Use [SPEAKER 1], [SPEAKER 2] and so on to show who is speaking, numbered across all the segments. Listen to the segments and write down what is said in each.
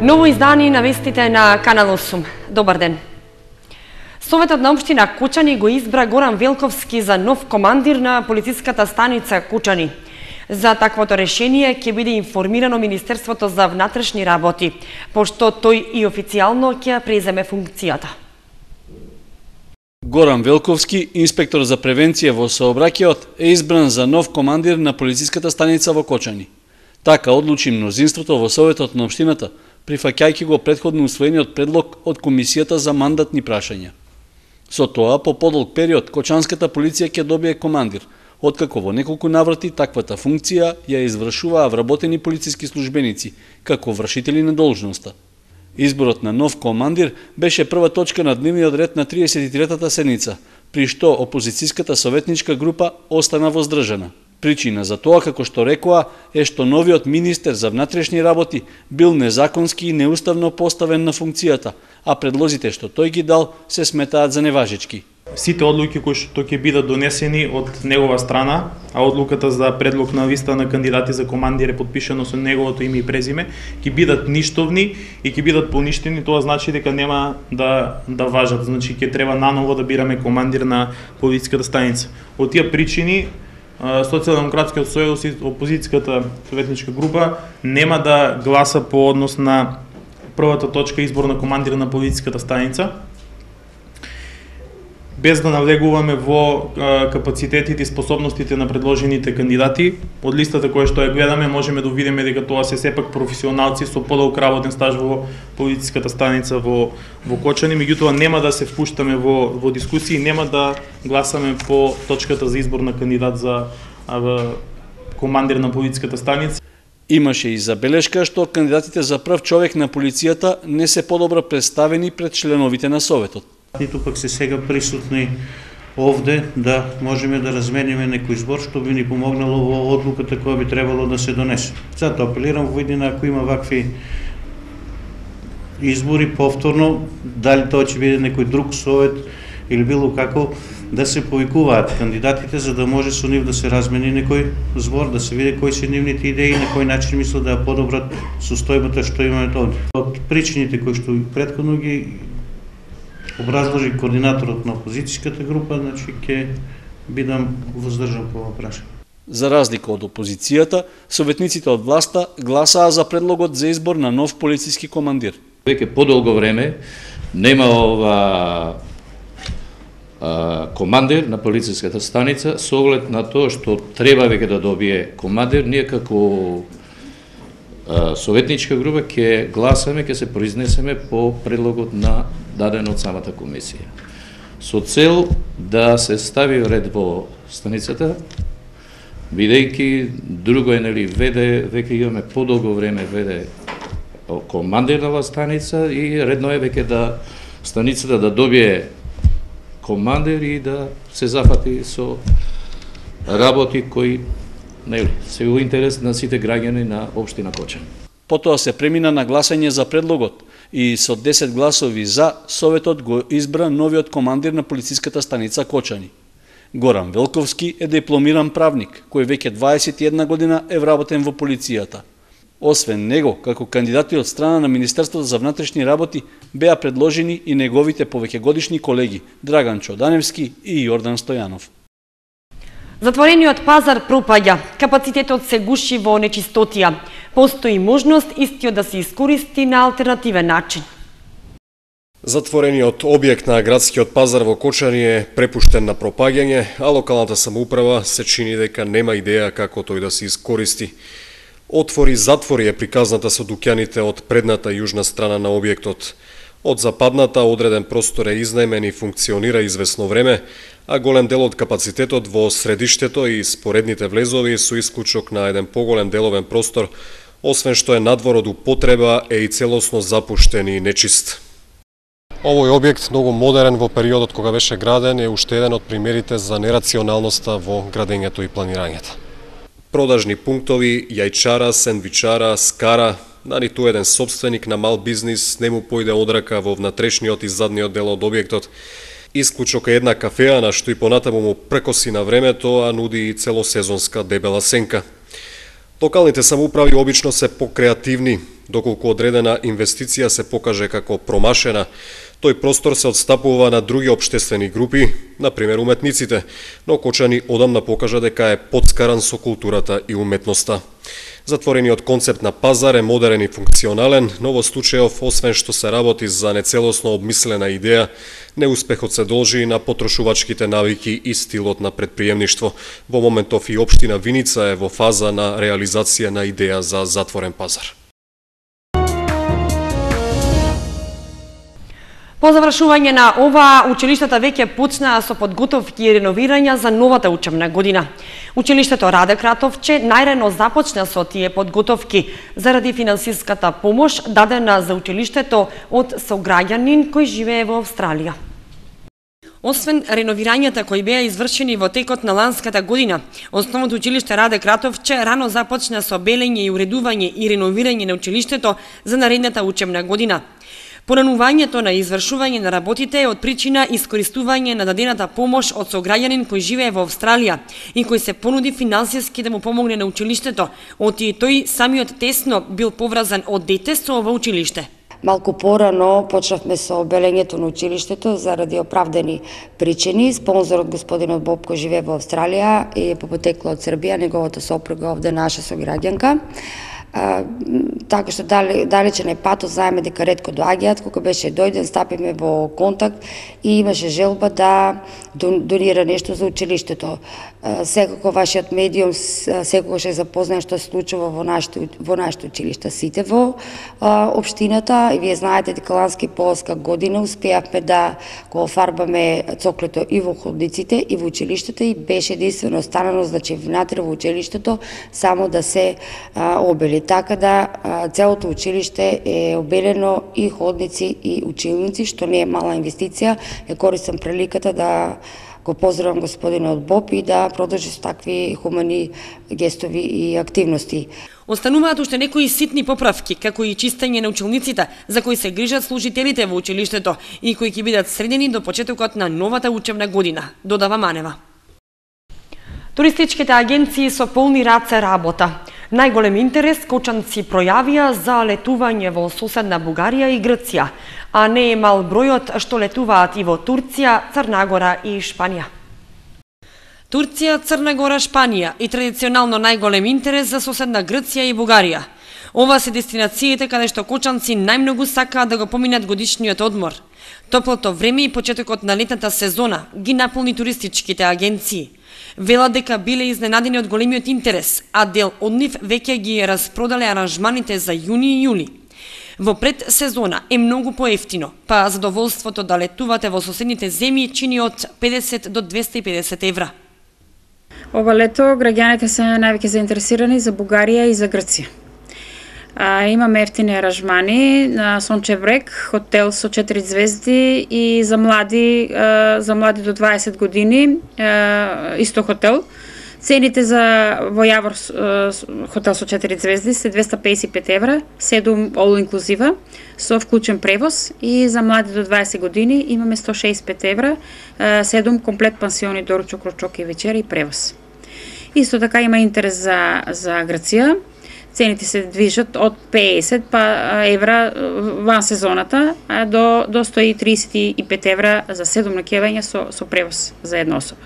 [SPEAKER 1] Ново издание на вестите на Канал 8. Добар ден. Советот на општина Кучани го избра Горан Велковски за нов командир на полициската станица Кучани. За таквото решение ќе биде информирано Министерството за внатрешни работи, пошто тој и официјално ќе преземе функцијата.
[SPEAKER 2] Горан Велковски, инспектор за превенција во сообраќајот, е избран за нов командир на полициската станица во Кочани. Така одлучи мнозинството во Советот на општината, прифаќајќи го претходно усвоениот предлог од Комисијата за мандатни прашања. Со тоа, по подолг период, Кочанската полиција ќе добие командир, откако во неколку наврати таквата функција ја извршуваа вработени полициски службеници, како вршители на должноста. Изборот на нов командир беше прва точка на дневниот ред на 33-та седница, при што опозицијската советничка група остана воздржана. Причина за тоа, како што рекоа, е што новиот министер за внатрешни работи бил незаконски и неуставно поставен на функцијата, а предлозите што тој ги дал се сметаат за неважечки.
[SPEAKER 3] Сите одлуки кои што ќе бидат донесени од негова страна, а одлуката за предлог на листа на кандидати за командир е подпишано со неговото име и презиме, ќе бидат ништовни и ќе бидат поништени, тоа значи дека нема да важат, значи ќе треба наново да бираме командир на полициската станица. Од тие причини Социјалдемократскиот сојуз и опозицијската советничка група нема да гласа по однос на првата точка избор на командир на полициската станица, без да навлегуваме во капацитетите и способностите на предложените кандидати. Од листата која што ја гледаме можеме да видиме дека тоа се сепак професионалци со подолг работен стаж во полициската станица во Кочани, меѓутоа нема да се впуштаме во дискусии, нема да гласаме по точката за избор на кандидат за командир на полициската станица.
[SPEAKER 2] Имаше и забелешка што кандидатите за прв човек на полицијата не се подобро представени пред членовите на Советот.
[SPEAKER 4] Ниту пак се сега присутни овде да можеме да размениме некој збор што би ни помогнало во одлуката која би требало да се донесе. Затоа апелирам во иднина, ако има вакви избори повторно, дали тоа ќе биде некој друг совет или било како, да се повикуваат кандидатите за да може со нив да се размени некој збор, да се види кои се нивните идеи и на кој начин мислат да ја подобрат состојбата што имаме овде. Од причините кои што претходно ги образложи координаторот на опозицијската група, значи ќе бидам воздржан по ова прашање.
[SPEAKER 2] За разлика од опозицијата, советниците од власта гласаа за предлогот за избор на нов полициски командир.
[SPEAKER 5] Веќе подолго време нема командир на полициската станица, со оглед на тоа што треба веќе да добие командир, ние како советничка група ќе гласаме, ќе се произнесеме по предлогот на даден од самата комисија. Со цел да се стави ред во станицата, бидејќи друго е, нели, веќе имаме подолго време веде командир на станица и редно е веќе да станицата да добие командир и да се зафати со работи кои, нели, се во интерес на сите граѓани на општина Кочани.
[SPEAKER 2] Потоа се премина на гласање за предлогот и со 10 гласови за, Советот го избра новиот командир на полициската станица Кочани. Горан Велковски е дипломиран правник, кој веќе 21 година е вработен во полицијата. Освен него, како кандидати од страна на Министерството за внатрешни работи, беа предложени и неговите повеќегодишни колеги Драган Чоданевски и Јордан Стојанов.
[SPEAKER 1] Затворениот пазар пропаѓа, капацитетот се гуши во нечистотија. Постои можност истиот да се искористи на алтернативен начин.
[SPEAKER 6] Затворениот објект на градскиот пазар во Кочани е препуштен на пропаѓање, а локалната самоуправа се чини дека нема идеја како тој да се искористи. Отвори-затвори е приказната со дуќаните од предната јужна страна на објектот. Од западната одреден простор е изнаемен и функционира извесно време, а голем дел од капацитетот во средиштето и споредните влезови со исклучок на еден поголем деловен простор, освен што е надвор од употреба, е и целосно запуштен и нечист. Овој објект, многу модерен во периодот кога беше граден, е уште еден од примерите за нерационалноста во градењето и планирањето. Продажни пунктови, јајчара, сендвичара, скара, на ниту еден собственик на мал бизнис не му појде одрака во внатрешниот и задниот дел од објектот. Исклучок е една кафеа на што и понатаму му прекоси на времето, а нуди и целосезонска дебела сенка. Локалните самоуправи обично се покреативни. Доколку одредена инвестиција се покаже како промашена, тој простор се отстапува на други општествени групи, например уметниците, но Кочани одамна покажа дека е подскаран со културата и уметноста. Затворениот концепт на пазар е модерен и функционален, но во случајов, освен што се работи за нецелосно обмислена идеја, неуспехот се должи на потрошувачките навики и стилот на предприемништво. Во моментов и општина Виница е во фаза на реализација на идеја за затворен пазар.
[SPEAKER 1] По завршување на ова, училиштата веќе почнаа со подготовки и реновирања за новата учебна година. Училиштето Раде Кратовче најрано започна со тие подготовки заради финансиската помош дадена за училиштето од сограѓанин кој живее во Австралија. Освен реновирањата кои беа извршени во текот на ланската година, основното училиште Раде Кратовче рано започна со белење и уредување и реновирање на училиштето за наредната учебна година. Поранувањето на извршување на работите е од причина искористување на дадената помош од сограѓанин кој живее во Австралија и кој се понуди финансиски да му помогне на училиштето, оти тој самиот тесно бил поврзан од дете со ова училиште.
[SPEAKER 7] Малку порано почнавме со белењето на училиштето заради оправдани причини. Спонзорот господинот Боб кој живее во Австралија и е по потекло од Србија, неговата сопруга овде наша сограѓанка. Така што далечен е патот, знаеме дека ретко доаѓаат, кога беше дојден, стапиме во контакт и имаше желба да донира нешто за училиштето. Секако вашиот медиум секогаш е запознаен што се случува во нашите училишта, сите во општината, и вие знаете дека лански полска година успеавме да го офарбаме цоклето и во ходниците и во училиштата и беше единствено останано, значи внатре во училиштето само да се обели. Така да целото училиште е обелено и ходници и училници, што не е мала инвестиција. Користам приликата да го поздравам господинот Боб и да продолжи со такви хумани гестови и активности.
[SPEAKER 1] Остануваат уште некои ситни поправки, како и чистење на училниците, за кои се грижат служителите во училиштето и кои ќе бидат средени до почетокот на новата учебна година, додава Манева. Туристичките агенции со полни раце работа. Најголем интерес кочанци пројавија за летување во соседна Бугарија и Грција, а не е мал бројот што летуваат и во Турција, Црна Гора и Шпанија. Турција, Црна Гора, Шпанија и традиционално најголем интерес за соседна Грција и Бугарија. Ова се дестинациите каде што кочанци најмногу сакаат да го поминат годишниот одмор. Топлото време и почетокот на летната сезона ги наполни туристичките агенции. Велат дека биле изненадени од големиот интерес, а дел од нив веќе ги распродале аранжманите за јуни и јули. Во предсезона е многу поевтино, па задоволството да летувате во соседните земји чини од 50 до 250 евра.
[SPEAKER 8] Ова лето граѓаните се највеќе заинтересирани за Бугарија и за Грција. Имаме ефтини аранжмани на Сончев брег, хотел со 4 звезди и за млади до 20 години, исто хотел. Цените во Јавор хотел со 4 звезди се 255 евра, 7 all inclusive со вклучен превоз, и за млади до 20 години имаме 165 евра, 7 комплет пансиони, доручок, ручок и вечера и превоз. Исто така има интерес за Грција. Цените се движат од 50 евра ван сезоната до 135 евра за 7 ноќевања со превоз за една особа.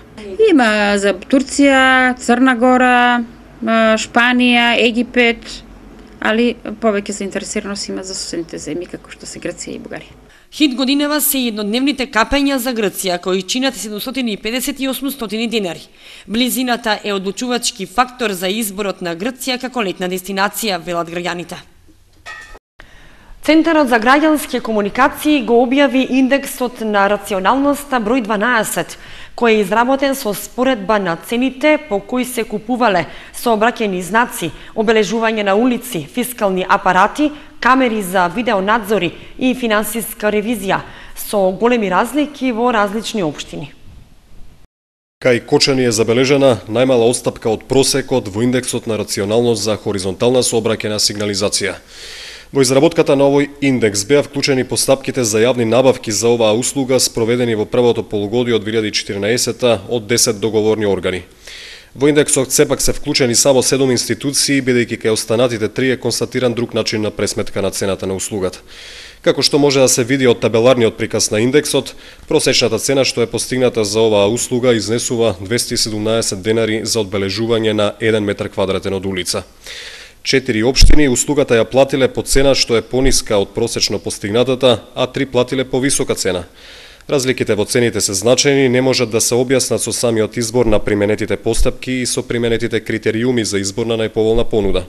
[SPEAKER 8] Има за Турција, Црна Гора, Шпанија, Египет, али повеќе заинтересираност има за соседните земји како што се Грција и Бугарија.
[SPEAKER 1] Хит годинава се еднодневните капења за Грција, кои чинат 750 и 800 денари. Близината е одлучувачки фактор за изборот на Грција како летна дестинација, велат граѓаните. Центарот за граѓански комуникации го објави индексот на рационалноста број 12, кој е изработен со споредба на цените по кои се купувале сообраќајни знаци, обележување на улици, фискални апарати, камери за видеонадзори и финансиска ревизија, со големи разлики во различни општини.
[SPEAKER 6] Кај Кочани е забележена најмала отстапка од просекот во индексот на рационалност за хоризонтална сообраќајна сигнализација. Во изработката на овој индекс беа вклучени постапките за јавни набавки за оваа услуга спроведени во првото полугодие од 2014 од 10 договорни органи. Во индексот сепак се вклучени само 7 институции, бидејќи кај останатите 3 е констатиран друг начин на пресметка на цената на услугата. Како што може да се види од табеларниот приказ на индексот, просечната цена што е постигната за оваа услуга изнесува 217 денари за одбележување на 1 метар квадратен од улица. 4 општини услугата ја платиле по цена што е пониска од просечно постигнатата, а 3 платиле по висока цена. Разликите во цените се значајни, не можат да се објаснат со самиот избор на применетите постапки и со применетите критериуми за избор на најповолна понуда.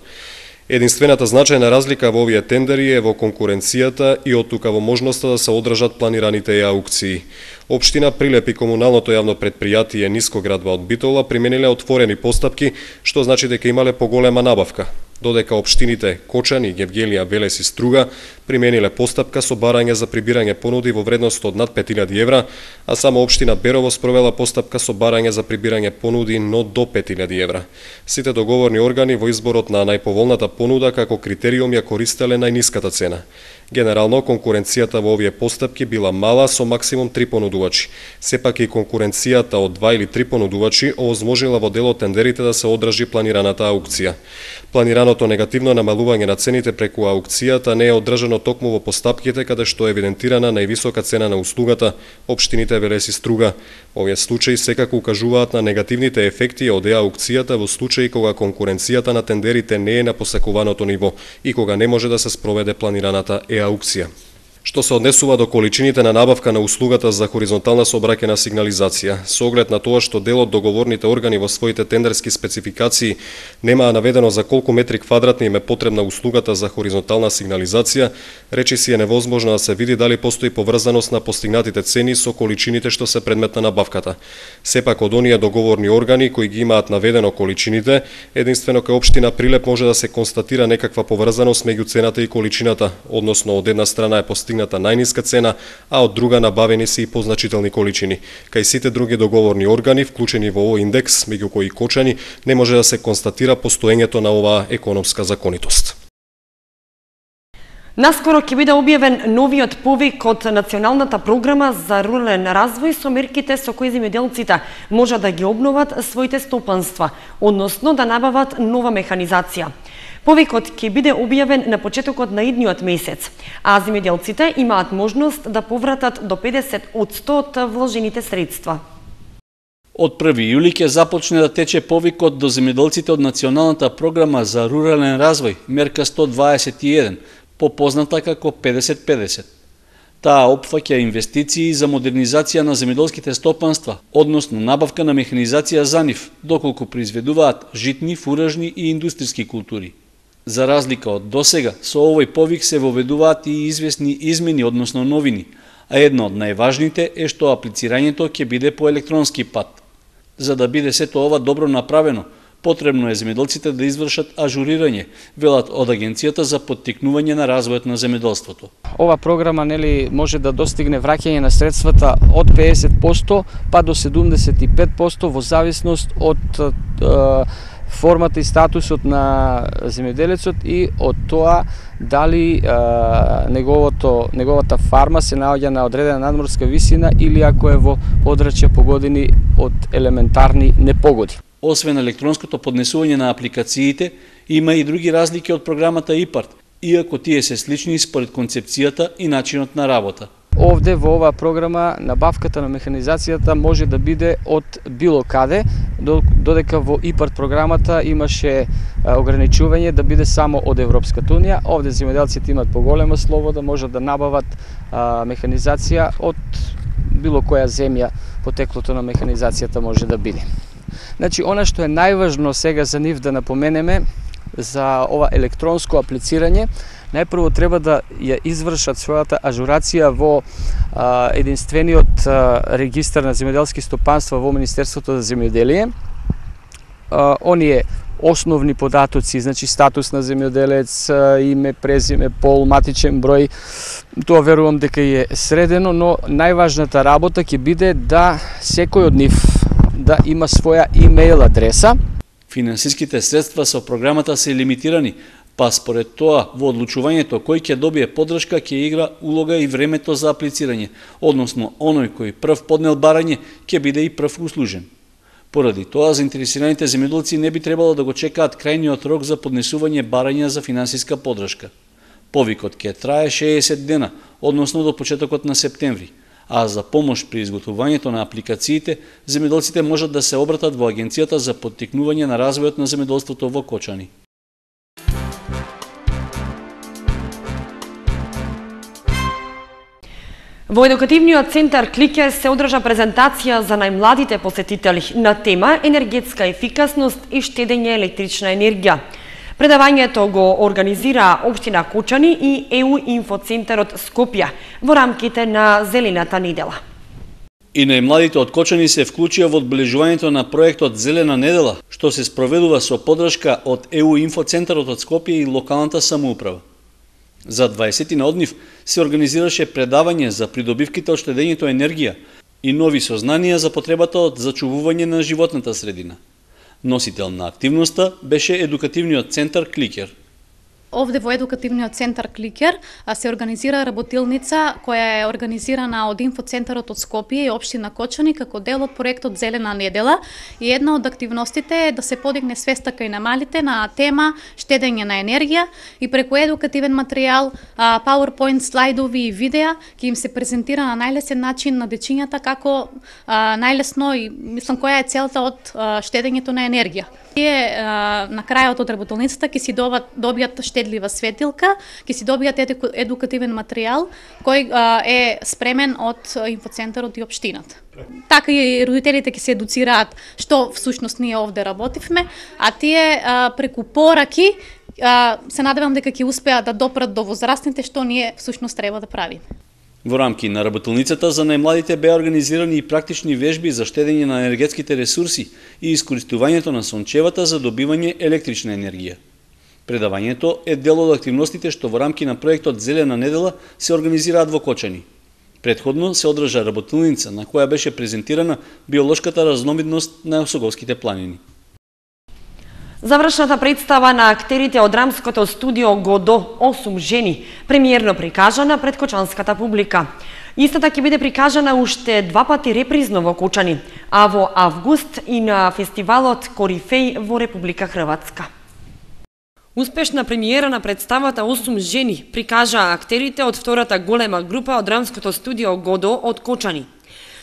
[SPEAKER 6] Единствената значајна разлика во овие тендери е во конкуренцијата и оттука во можноста да се одржат планираните аукции. Општина Прилеп и комуналното јавно предпријатие Нискоградба од Битола примениле отворени постапки, што значи дека имале поголема набавка, додека општините Кочани, Гевгелија, Велес и Струга примениле постапка со барање за прибирање понуди во вредност од над 5000 евра, а само општина Берово спровела постапка со барање за прибирање понуди но до 5000 евра. Сите договорни органи во изборот на најповолната понуда како критериум ја користеле најниската цена. Генерално, конкуренцијата во овие постапки била мала со максимум 3 понудувачи. Сепак и конкуренцијата од 2 или 3 понудувачи овозможила во дел од тендерите да се одржи планираната аукција. Планираното негативно намалување на цените преку аукцијата не е одржано токму во постапките каде што е евидентирана највисока цена на услугата, општините Велес и Струга. Овие случаи секако укажуваат на негативните ефекти од аукцијата во случаи кога конкуренцијата на тендерите не е на посакуваното ниво и кога не може да се спроведе планираната аукција. Што се однесува до количините на набавка на услугата за хоризонтална сообраќајна сигнализација, со оглед на тоа што дел од договорните органи во своите тендерски спецификации немаа наведено за колку метри квадратни им е потребна услугата за хоризонтална сигнализација, речиси е невозможно да се види дали постои поврзаност на постигнатите цени со количините што се предмет на набавката. Сепак од оние договорни органи кои ги имаат наведено количините, единствено кај општина Прилеп може да се констатира некаква поврзаност меѓу цената и количината, односно од една страна е постигната најниска цена, а од друга набавени се и позначителни количини. Кај сите други договорни органи, вклучени во овој индекс, меѓу кои Кочани, не може да се констатира постоењето на оваа економска законитост.
[SPEAKER 1] Наскоро ќе биде објавен новиот повик од Националната програма за рурален развој со мерките со кои земјоделците можат да ги обноват своите стопанства, односно да набават нова механизација. Повикот ќе биде објавен на почетокот на идниот месец, а земјоделците имаат можност да повратат до 50% од вложените средства.
[SPEAKER 2] Од 1 јули ќе започне да тече повикот до земјоделците од Националната програма за рурален развој, мерка 121, попозната како 50-50. Таа опфаќа инвестиции за модернизација на земјоделските стопанства, односно набавка на механизација за нив, доколку произведуваат житни, фуражни и индустријски култури. За разлика од досега, со овој повик се воведуваат и известни измени, односно новини, а една од најважните е што аплицирањето ќе биде по електронски пат. За да биде сето ова добро направено, потребно е земјоделците да извршат ажурирање, велат од Агенцијата за поттикнување на развојот на земјоделството.
[SPEAKER 9] Ова програма може да достигне враќање на средствата од 50% па до 75% во зависност од формата и статусот на земјоделецот и од тоа дали неговата фарма се наоѓа на одредена надморска висина или ако е во подрачја погодени од елементарни непогоди.
[SPEAKER 2] Освен електронското поднесување на апликациите, има и други разлики од програмата ИПАРТ, иако тие се слични според концепцијата и начинот на работа.
[SPEAKER 9] Овде во оваа програма набавката на механизацијата може да биде од било каде, додека во ИПАРТ програмата имаше ограничување да биде само од Европската унија. Овде земјоделците имаат поголема слобода, можат да набават механизација од било која земја, потеклото на механизацијата може да биде. Значи, она што е најважно сега за нив да напоменеме за ова електронско аплицирање, најпрво треба да ја извршат својата ажурација во единствениот регистар на земјоделски стопанства во Министерството за земјоделие. Оние основни податоци, значи статус на земјоделец, име, презиме, пол, матичен број, тоа верувам дека е средено, но најважната работа ќе биде да секој од нив да има своја имејл адреса.
[SPEAKER 2] Финансиските средства со програмата се лимитирани, па според тоа во одлучувањето кој ќе добие поддршка ќе игра улога и времето за аплицирање, односно оној кој прв поднел барање ќе биде и прв услужен. Поради тоа, заинтересираните земјоделци не би требало да го чекаат крајниот рок за поднесување барања за финансиска поддршка. Повикот ќе трае 60 дена, односно до почетокот на септември, а за помош при изготвувањето на апликациите, земјоделците можат да се обратат во Агенцијата за поттикнување на развојот на земјоделството во Кочани.
[SPEAKER 1] Во едукативниот центар Кликер се одржа презентација за најмладите посетители на тема енергетска ефикасност и штедење електрична енергија. Предавањето го организира Општина Кочани и ЕУ Инфоцентарот Скопје во рамките на Зелената недела.
[SPEAKER 2] И најмладите од Кочани се вклучија во одбележувањето на проектот Зелена недела, што се спроведува со поддршка од ЕУ Инфоцентарот од Скопје и локалната самоуправа. За 20 од нив се организираше предавање за придобивките од штедењето енергија и нови сознанија за потребата од зачувување на животната средина. Носител на активноста беше едукативниот центар Кликер.
[SPEAKER 10] Овде во едукативниот центар Кликер се организира работилница која е организирана од Инфоцентарот од Скопје и Општина Кочани како дел од проектот Зелена недела, и една од активностите е да се подигне свеста кај намалите на тема штедење на енергија, и преку едукативен материјал, PowerPoint слайдови и видеа ќе им се презентира на најлесен начин на дечињата како најлесно и мислам која е целта од штедењето на енергија. Тие на крајот од работилницата ќе си добијат штедлива светилка, ќе си добијат едукативен материјал кој е спремен од Инфоцентарот и општината. Така и родителите ќе се едуцираат што всушност ние овде работивме, а тие преку пораки се надевам дека ќе успеат да допрат до возрастните што ние всушност треба да правиме.
[SPEAKER 2] Во рамки на работилницата за најмладите беа организирани и практични вежби за штедење на енергетските ресурси и искористувањето на сончевата за добивање електрична енергија. Предавањето е дел од активностите што во рамки на проектот Зелена недела се организираат во Кочани. Предходно се одржа работилница на која беше презентирана биолошката разновидност на Осоговските планини.
[SPEAKER 1] Завршната представа на актерите од драмското студио Годо 8 жени, премиерно прикажана пред кочанската публика. Истата ќе биде прикажана уште 2 пати репризно во Кочани, а во август и на фестивалот Корифеј во Република Хрватска. Успешна премиера на представата 8 жени прикажа актерите од втората голема група од драмското студио Годо од Кочани.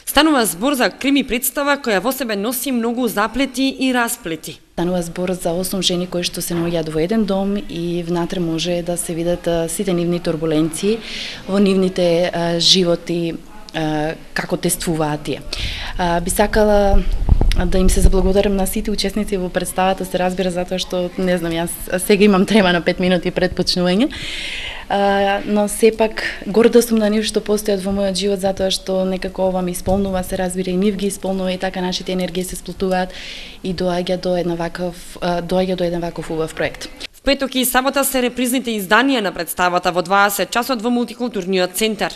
[SPEAKER 1] Станува збор за крими представа која во себе носи многу заплети и расплети.
[SPEAKER 11] Станува збор за 8 жени кои што се наоѓаат во еден дом и внатре може да се видат сите нивни турбуленции во нивните животи, како тествуваат тие. Би сакала да им се заблагодарам на сите учесници во представата, се разбира, затоа што, не знам, јас сега имам трема на 5 минути пред почнување, но сепак горда сум на нив што постојат во мојот живот, затоа што некако ова ми исполнува, се разбира, и нив ги исполнува, и така нашите енергии се сплотуваат и доаѓа до еден ваков убав проект.
[SPEAKER 1] В петок и сабота се репризните изданија на представата во 20 часот во мултикултурниот центар.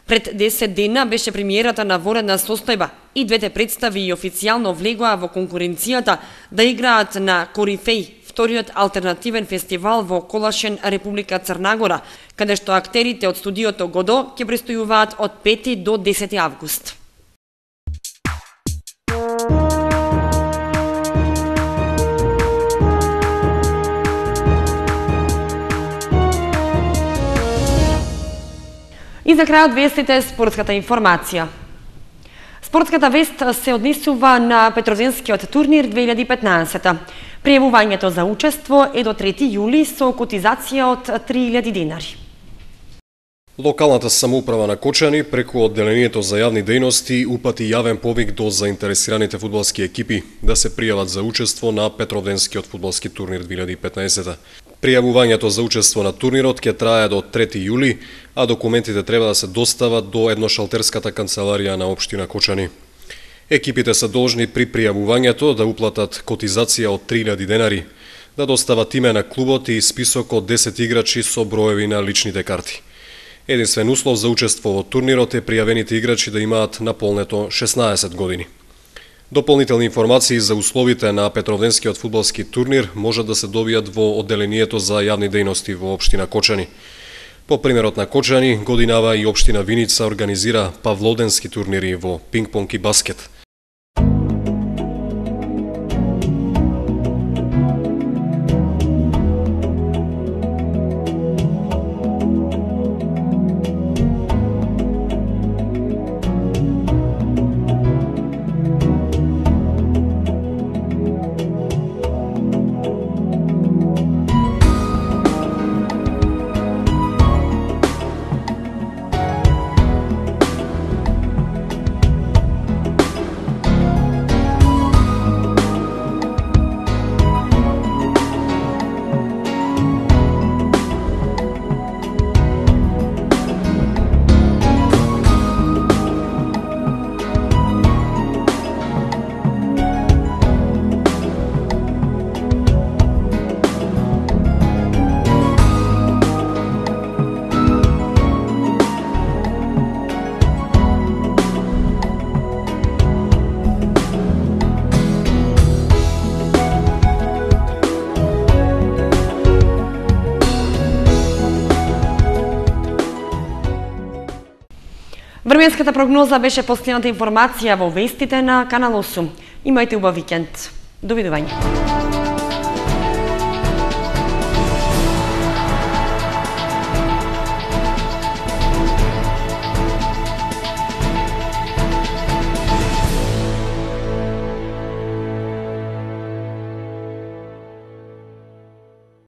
[SPEAKER 1] Пред 10 дена беше премиерата на воредна состојба и двете представи и официјално влегоа во конкуренцијата да играат на Корифеј, вториот алтернативен фестивал во Колашен, Република Црна-Гора, каде што актерите од студиото Годо ќе престојуваат од 5 до 10 август. И за крајот вестите спортската информација. Спортската вест се однесува на Петровденскиот турнир 2015. Пријавувањето за учество е до 3 јули со котизација од 3000 денари.
[SPEAKER 6] Локалната самоуправа на Кочани преку одделението за јавни дејности упати јавен повик до заинтересираните фудбалски екипи да се пријават за учество на Петровденскиот фудбалски турнир 2015. Пријавувањето за учество на турнирот ќе трае до 3 јули, а документите треба да се достават до едношалтерската канцеларија на општина Кочани. Екипите се должни при пријавувањето да уплатат котизација од 3000 денари, да достават име на клубот и список од 10 играчи со броеви на личните карти. Единствен услов за учество во турнирот е пријавените играчи да имаат наполнето 16 години. Дополнителни информации за условите на Петровденскиот фудбалски турнир можат да се добијат во одделението за јавни дејности во општина Кочани. По примерот на Кочани, годинава и општина Виница организира павлоденски турнири во пинг-понг и баскет.
[SPEAKER 1] Временската прогноза беше последната информација во вестите на Канал 8. Имајте убав викенд. Довидување.